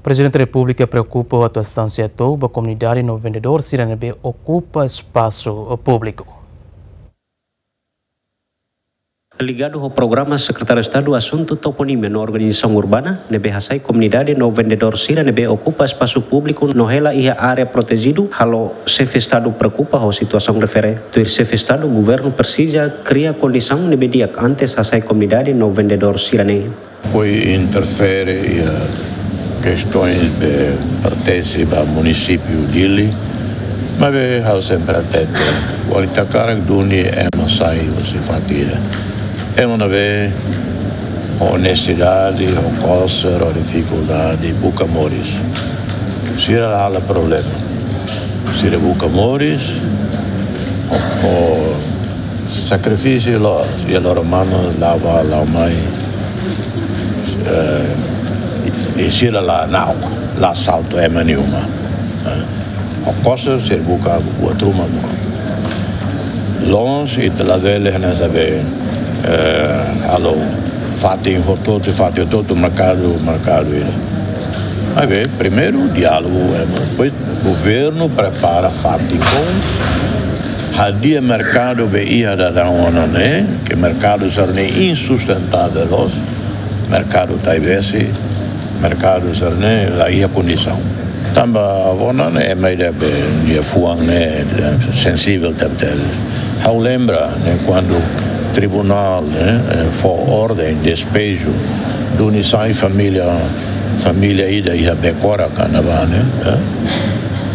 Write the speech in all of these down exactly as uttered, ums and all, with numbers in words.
Prezidente Repúblika preokupa ho atuasaun sira hato'o ba komunidade no vendedór sira ne'ebé okupa espasu públiku. Ligadu ho programa Sekretáriu Estadu Asuntu Toponímia no Organizasaun Urbana, ne'ebé hasai komunidade no vendedór sira ne'ebé okupa espasu públiku no hela iha área protejidu, halo Xefe Estadu preokupa ho situasaun refere. Tuir Xefe Estadu, governu presiza kria kondisaun ne'ebé di'ak antes hasai komunidade no vendedór sira-ne'e. Foin interfere iha kestoins ne'ebé pertense ba munisípiu Dili, maibé ha'u sempre atenta. Kuandu ita hakarak duni ema sai husi fatin ida, ema ne'ebé ho nesesidade, ho kóser, ho difikuldade, buka moris. Sira la halo problema. Sira buka moris, ho, ho sakrifísiu loos, iha loron manu la'o bá, la'o mai. Eh, i, i sira la na'ok, la asaltu ema nia uma. Eh, ho kóser sira buka buat ruma. Loos, ita labele hanesan be, eh, halo fatin hotu-hotu, fatin hotu-hotu, merkadu, merkadu ida. Maibé, primeiru diálogu, eh, depois governu prepara fatin kona, hadi'a merkadu be iha daudaun ona ne'e, ke merkadu sira-ne'e insustentável loos, merkadu Taibesi, merkadu sira-ne'e la iha kondisaun. Tanba ona ne'e ema ida be nia fuan ne'e, eh, sensivel tebes. Ha'u lembra, ne'e, kuandu tribunál, ne'e, eh, fó orden despeju, duni sai família, família ida iha Becora, ka ne'ebá, ne'e, eh?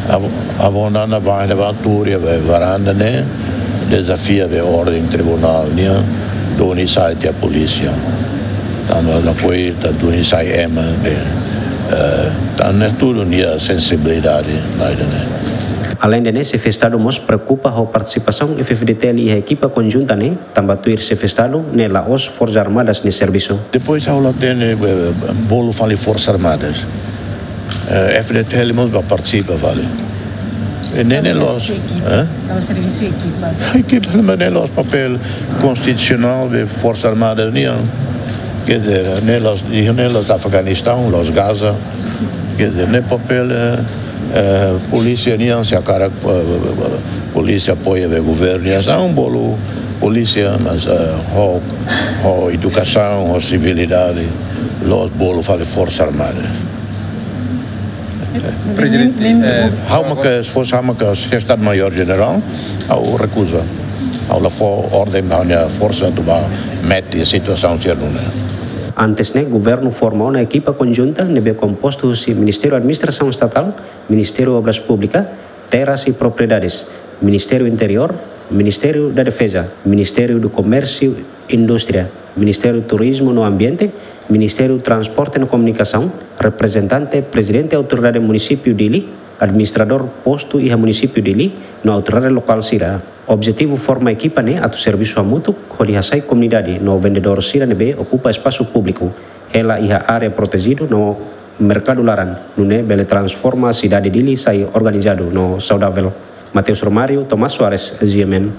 Ab-, abona na ba, na ba tuur iha be varanda ne'e, dezafia be orden tribunál nian, duni sai tiha polísia. Tanba la koi ta duni sai ema be, eh, tan ne'e tuir nia sensibilidade, ba ida-ne'e. Aleinde ne'e, Xefe Estadu mós preokupa ho partisipasaun F-FDTL iha ekipa konjunta ne'e, tanba tuir Xefe Estadu ne'e la'ós Forsas Armadas nia servisu. Depois ha'u la hatene, eh, bolu fali Forsas Armadas. Eh, F-FDTL mós bá partisipa fali. I ne'e, ne'e la'ós, eh? La'ós servisu ekipa. Ekipa, maibé ne'e la'ós papél konstitusionál de Forsas Armadas nian. Quer dizer, ne'e la'ós, ne'e la'ós Afeganistaun, la'ós Gaza. Quer dizer, ne'e papél, eh, eh, polísia nian, se hakarak, eh, polísia apoia be governu nia asaun, bolu polísia, mas, eh, ho, ho edukasaun, ho sivilidade, la'ós bolu fali Forsas Armadas. Prezidente, eh, ha'u maka, se fosse ha'u maka Estadu Maiór Jenerál, ha'u rekuza. Ha'u la fó orden ba nia forsa atu bá mete situasaun sira-ne'e. Antes ne'e, governu forma ona ekipa konjunta ne'ebé kompostu husi Ministériu Administrasaun Estatál, Ministériu Obras Públikas, Terras e Propriedades, Ministériu Interiór, Ministériu da Defeza, Ministériu do Komérsiu e Indústria, Ministériu Turizmu no Ambiente, Ministériu Transporte no Komunikasaun, reprezentante Prezidente Autoridade Munisípiu Dili, administradór postu iha Munisípiu Dili, no autoridade lokál sira. Objetivu forma ekipa ne'e atu servisu hamutuk hodi hasai komunidade no vendedór sira ne'ebé okupa espasu públiku, hela iha área protejidu no merkadu laran, nune'e bele transforma sidade Dili sai organizadu no saudavel. Mateus Romário, Tomás Soares, G M N.